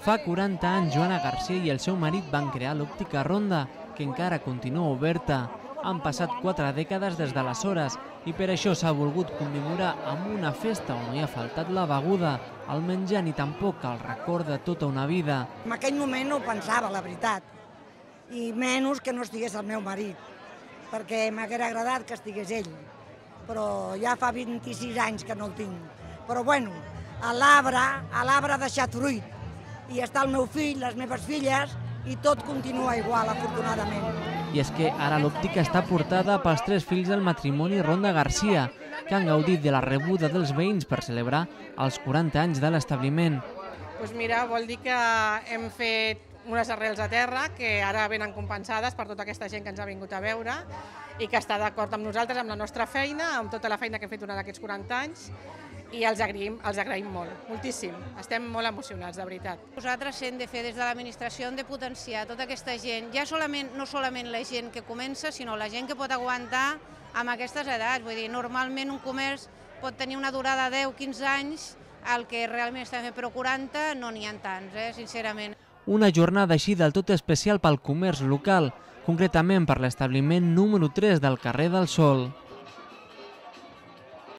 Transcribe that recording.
Fa 40 anys, Joana Garcia i el seu marit van crear l'Òptica Ronda, que encara continua oberta. Han passat 4 dècades des d'aleshores i per això s'ha volgut commemorar amb una festa on no hi ha faltat la beguda, el menjar ni tampoc el record de tota una vida. En aquell moment no ho pensava, la veritat, i menys que no estigués el meu marit, perquè m'haguera agradat que estigués ell, però ja fa 26 anys que no el tinc. Però bueno, l'arbre ha deixat fruit, i està el meu fill, les meves filles, i tot continua igual, afortunadament. I és que ara l'òptica està portada pels 3 fills del matrimoni Ronda Garcia, que han gaudit de la rebuda dels veïns per celebrar els 40 anys de l'establiment. Doncs mira, vol dir que hem fet unes arrels a terra que ara venen compensades per tota aquesta gent que ens ha vingut a veure i que està d'acord amb nosaltres, amb la nostra feina, amb tota la feina que hem fet durant aquests 40 anys, i els agraïm molt, moltíssim. Estem molt emocionats, de veritat. Nosaltres hem de fer des de l'administració, hem de potenciar tota aquesta gent, ja no solament la gent que comença, sinó la gent que pot aguantar amb aquestes edats. Vull dir, normalment un comerç pot tenir una durada de 10-15 anys, el que realment està fent, però 40 no n'hi ha tants, sincerament. Una jornada així del tot especial pel comerç local, concretament per l'establiment número 3 del carrer del Sol.